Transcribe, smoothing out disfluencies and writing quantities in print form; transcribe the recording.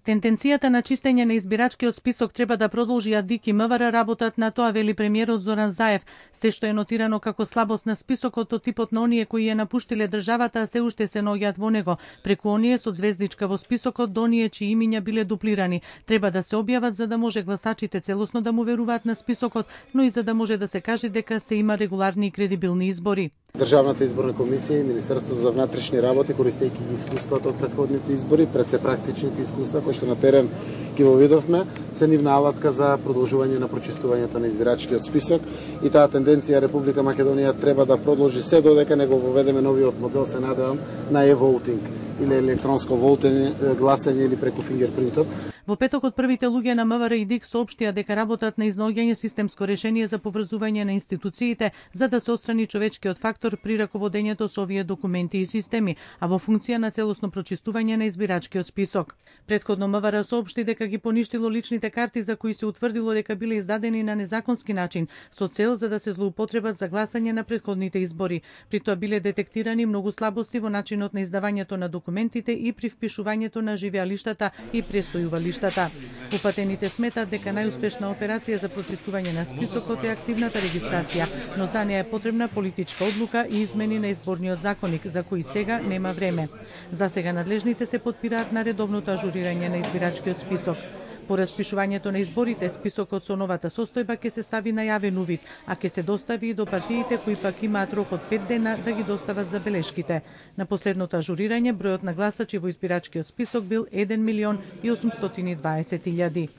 Тенденцијата на чистење на избирачкиот список треба да продолжи, а ДИК и МВР работат на тоа, вели премиерот Зоран Заев. Се што е нотирано како слабост на списокот од типот на оние кои ја напуштиле државата, се уште се наоѓаат во него, преку оние со звездичка во списокот до оние чии имиња биле дуплирани. Треба да се објават за да може гласачите целосно да му веруваат на списокот, но и за да може да се каже дека се има регуларни и кредибилни избори. Државната изборна комисија и Министерството за внатрешни работи, користејќи ги искуствата од претходните избори, пред се практичните искуства кои што на терен ги во видовме, се нивна алатка за продолжување на прочистувањето на избирачкиот список и таа тенденција Република Македонија треба да продолжи се додека не го воведеме новиот модел, се надевам, на e-voting или електронско гласење или преку фингерпринтот. Во петокот првите луѓе на МВР и ДИК соопштија дека работат на изнаоѓање системско решение за поврзување на институциите за да се отстрани човечкиот фактор при раководењето со овие документи и системи, а во функција на целосно прочистување на избирачкиот список. Претходно МВР соопшти дека ги поништило личните карти за кои се утврдило дека биле издадени на незаконски начин со цел за да се злоупотребат за гласање на претходните избори. При тоа биле детектирани многу слабости во начинот на издавањето на документите и при впишувањето на живеалиштата и престојувалиштата. Упатените сметат дека најуспешна операција за прочистување на списокот е активната регистрација, но за неја е потребна политичка одлука и измени на изборниот законник, за кои сега нема време. За сега надлежните се потпираат на редовното ажурирање на избирачкиот список. По распишувањето на изборите, списокот со новата состојба ќе се стави на јавен увид, а ќе се достави и до партиите кои пак имаат рок од 5 дена да ги достават забелешките. На последното ажурирање, бројот на гласачи во избирачкиот список бил 1.820.000.